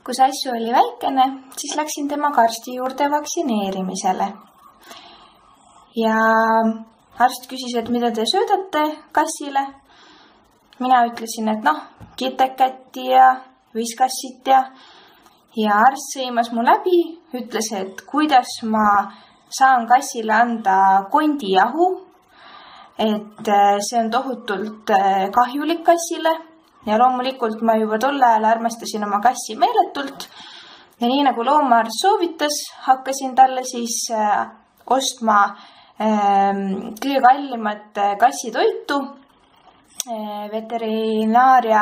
Kui Sassu oli väikene, siis läksin temaga arsti juurde vaktsineerimisele. Ja arst küsis, et mida te söödate kassile. Mina ütlesin, et kitekätti ja viskassit ja arst sõimas mu läbi, ütles, et kuidas ma saan kassile anda kondijahu, et see on tohutult kahjulik kassile. Ja loomulikult ma juba tolle ajal armastasin oma kassi meeletult ja nii nagu loomaarst soovitas, hakkasin talle siis ostma kõige kallimat kassitoitu veterinaaria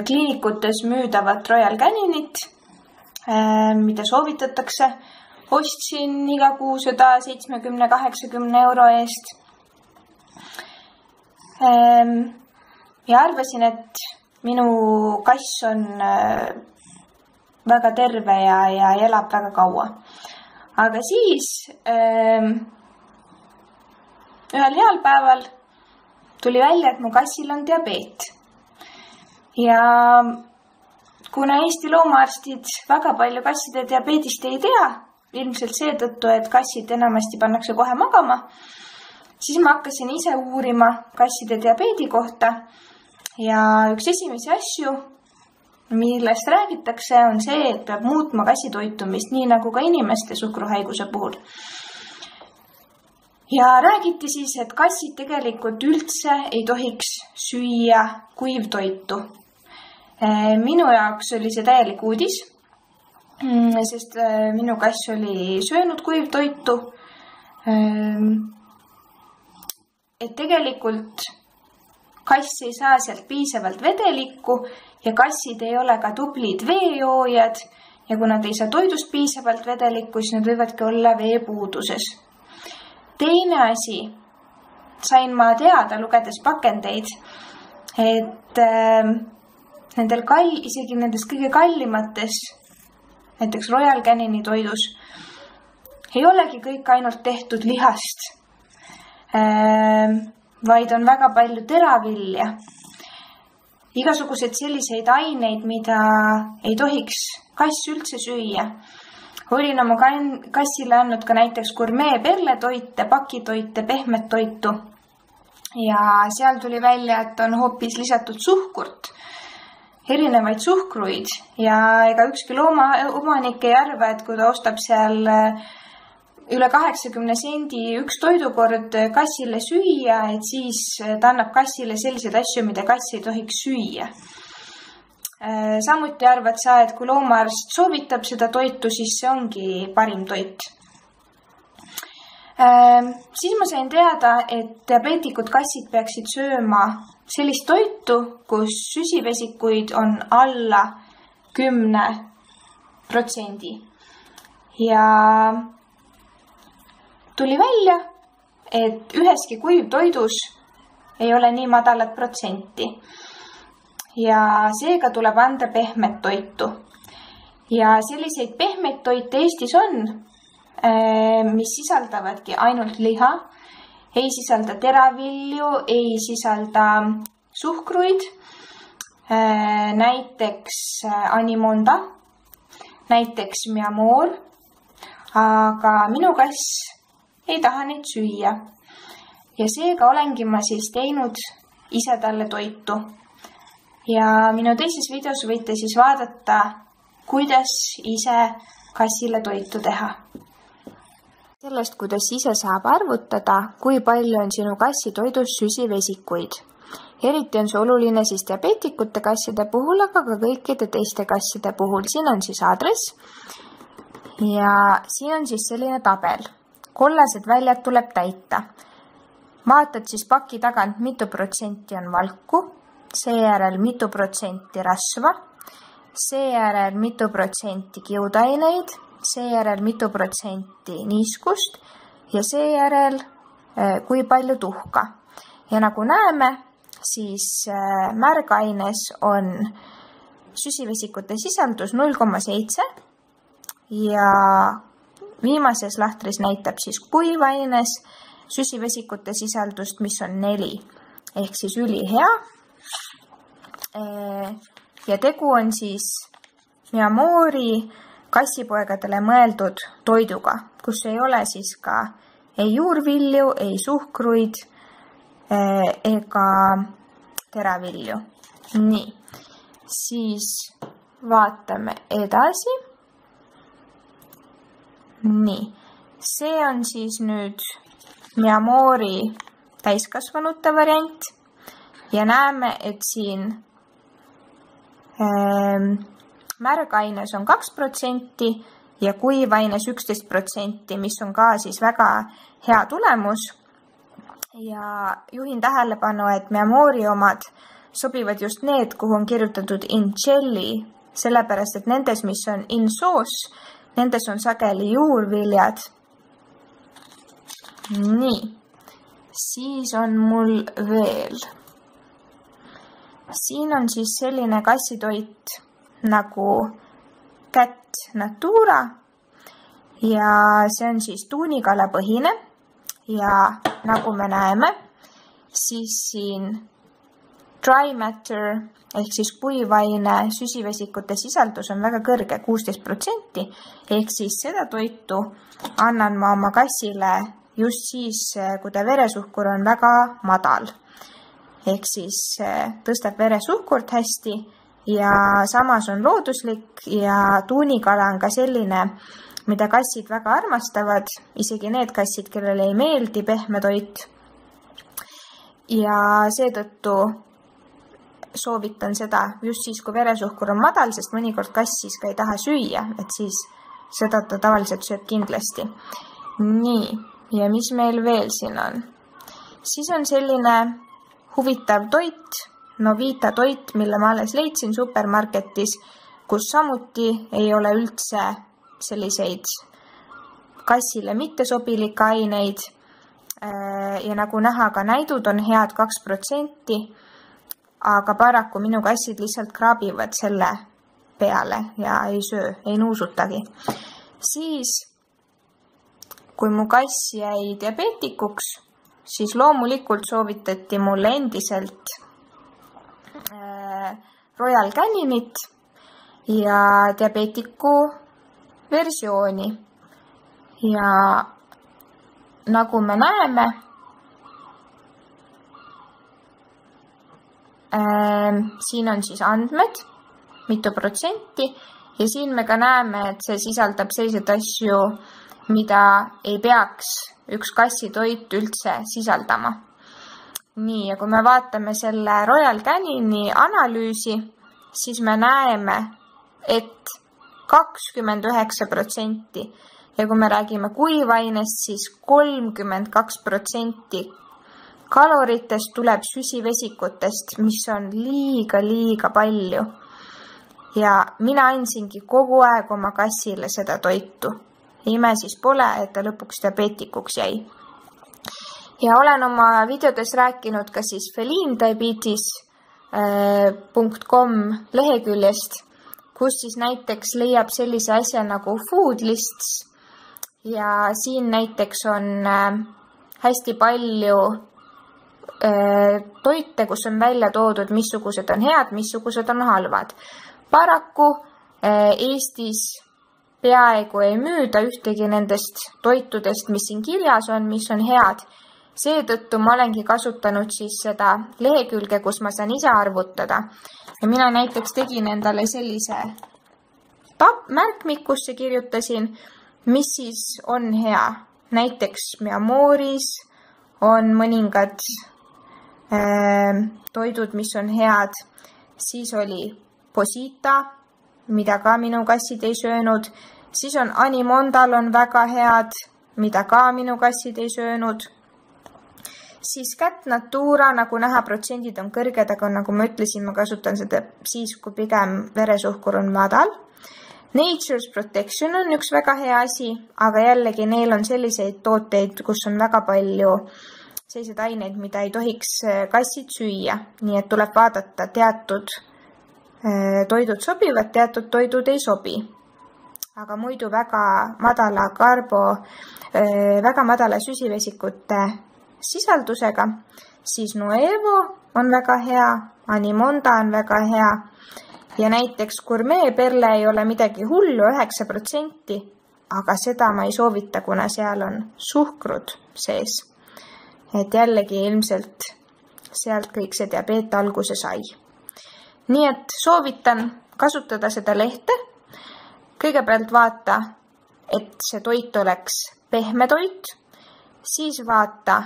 kliinikutes müüdavat Royal Caninit, mida soovitatakse. Ostsin iga kuu seda 70-80 euro eest. Ja arvasin, et minu kass on väga terve ja elab väga kaua. Aga siis ühel heal päeval tuli välja, et mu kassil on diabeet. Ja kuna Eesti loomaarstid väga palju kasside diabeedist ei tea, ilmselt seetõttu, et kassid enamasti pannakse kohe magama, siis ma hakkasin ise uurima kasside diabeedi kohta. Ja üks esimesi asju, millest räägitakse, on see, et peab muutma kassi toitumist, nii nagu ka inimeste suhkruhaiguse puhul. Ja räägiti siis, et kassid tegelikult üldse ei tohiks süüa kuivtoitu. Minu jaoks oli see täielik uudis, sest minu kass oli söönud kuivtoitu. Et tegelikult kass ei saa sealt piisavalt vedelikku ja kassid ei ole ka tublid veejoojad ja kui nad ei saa toidust piisavalt vedelikku, siis nad võivadki olla veepuuduses. Teine asi, sain ma teada, lugedes pakendeid, et isegi nendes kõige kallimates, näiteks Royal Canini toidus, ei olegi kõik ainult tehtud lihast, vaid on väga palju teravilja. Igasugused selliseid aineid, mida ei tohiks kass üldse süüa. Olin oma kassile andnud ka näiteks gourmet perletoite, pakitoite, pehmet toitu. Ja seal tuli välja, et on hoopis lisatud suhkurt, erinevaid suhkruid. Ja ega ükski loomaomanik ei arva, et kui ta ostab seal üle 80 sendi üks toidukord kassile süüa, et siis ta annab kassile selliseid asju, mida kass ei tohiks süüa. Samuti arvad sa, et kui loomaarst soovitab seda toitu, siis see ongi parim toit. Siis ma sain teada, et diabeetikud kassid peaksid sööma sellist toitu, kus süsivesikuid on alla 10%. Ja tuli välja, et üheski kuivtoidus ei ole nii madalat protsenti. Ja seega tuleb anda pehmet toitu. Ja selliseid pehmeid toite Eestis on, mis sisaldavadki ainult liha, ei sisalda teravilju, ei sisalda suhkruid, näiteks Animonda, näiteks Miamor, aga minu kass ei taha neid süüa. Ja seega olengi ma siis teinud ise talle toitu. Ja minu teises videos võite siis vaadata, kuidas ise kassile toitu teha. Sellest, kuidas ise saab arvutada, kui palju on sinu kassi toidus süsivesikuid. Eriti on see oluline siis diabeetikute kasside puhul, aga ka kõikide teiste kasside puhul. Siin on siis aadress ja siin on siis selline tabel. Kollased väljad tuleb täita. Vaatad siis paki tagant, mitu protsenti on valku, seejärel mitu protsenti rasva, seejärel mitu protsenti kiudaineid, seejärel mitu protsenti niiskust ja seejärel kui palju tuhka. Ja nagu näeme, siis märgaines on süsivesikute sisaldus 0,7 ja viimases lahtris näitab siis kuivaines süsivesikute sisaldust, mis on 4 ehk siis ülihea. Ja tegu on siis Miamori kassipoegadele mõeldud toiduga, kus ei ole siis ka ei juurvilju, ei suhkruid ega teravilju. Nii, siis vaatame edasi. Nii, see on siis nüüd Miamori täiskasvanute variant ja näeme, et siin märgaines on 2% ja kuivaines 11%, mis on ka siis väga hea tulemus. Ja juhin tähelepanu, et Miamori omad sobivad just need, kuhu on kirjutatud in jelly, sellepärast et nendes, mis on in sauce, nendes on sageli juurviljad. Nii, siis on mul veel. Siin on siis selline kassitoit nagu Cat Natura ja see on siis tuunikalapõhine ja nagu me näeme, siis siin dry matter ehk siis kuivaine süsivesikute sisaldus on väga kõrge, 16%, ehk siis seda toitu annan ma oma kassile just siis, kui ta veresuhkur on väga madal. Ehk siis tõstab veresuhkurt hästi ja samas on looduslik ja tuunikala on ka selline, mida kassid väga armastavad, isegi need kassid, kellele ei meeldi pehme toit. Ja seetõttu soovitan seda just siis, kui veresuhkur on madal, sest mõnikord kass siis ka ei taha süüa, et siis seda ta tavaliselt sööb kindlasti. Nii, ja mis meil veel siin on? Siis on selline huvitav toit, Novita toit, mille ma alles leidsin supermarketis, kus samuti ei ole üldse selliseid kassile mittesobilikke aineid ja nagu näha, ka näidud on head 2%, aga paraku minu kassid lihtsalt kraabivad selle peale ja ei söö, ei nuusutagi. Siis, kui mu kass jäi diabeetikuks, siis loomulikult soovitati mulle endiselt Royal Caninit ja diabeetiku versiooni. Ja nagu me näeme, siin on siis andmed, mitu protsenti ja siin me ka näeme, et see sisaldab selliseid asju, mida ei peaks üks kassitoit üldse sisaldama. Nii, ja kui me vaatame selle Royal Canini analüüsi, siis me näeme, et 29% ja kui me räägime kuivainest, siis 32% kaloritest tuleb süsivesikutest, mis on liiga palju. Ja mina andsingi kogu aeg oma kassile seda toitu. Ime siis pole, et ta lõpuks diabeetikuks jäi. Ja olen oma videodes rääkinud ka siis felindiabetes.com leheküljest, kus siis näiteks leiab sellise asja nagu food lists ja siin näiteks on hästi palju toite, kus on välja toodud, missugused on head, missugused on halvad. Paraku Eestis peaaegu ei müüda ühtegi nendest toitudest, mis siin kirjas on, mis on head. Seetõttu ma olengi kasutanud siis seda lehekülge, kus ma saan ise arvutada. Ja mina näiteks tegin endale sellise märkmikusse kirjutasin, mis siis on hea. Näiteks Miamoris on mõningad toidud, mis on head. Siis oli Posita, mida ka minu kassid ei söönud. Siis on Animondal on väga head, mida ka minu kassid ei söönud. Siis Cat Natura, nagu näha, protsendid on kõrged, aga nagu ma ütlesin, ma kasutan seda siis, kui pigem veresuhkur on madal. Nature's Protection on üks väga hea asi, aga jällegi neil on selliseid tooteid, kus on väga palju selliseid aineid, mida ei tohiks kassid süüa. Nii et tuleb vaadata, teatud toidud sobivad, teatud toidud ei sobi. Aga muidu väga madala väga madala süsivesikute sisaldusega, siis Nuevo on väga hea, Animonda on väga hea Ja näiteks gurmeeperle ei ole midagi hullu, 9%, aga seda ma ei soovita, kuna seal on suhkrut sees. Et jällegi ilmselt sealt kõik see diabeet alguse sai. Nii et soovitan kasutada seda lehte. Kõigepealt vaata, et see toit oleks pehme toit, siis vaata,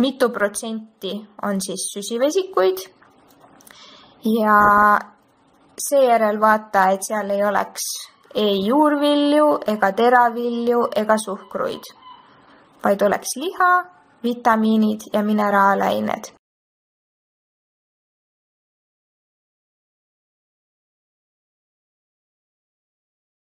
mitu protsenti on siis süsivesikuid ja seejärel vaata, et seal ei oleks ei juurvilju ega teravilju ega suhkruid, vaid oleks liha, vitamiinid ja mineraalained.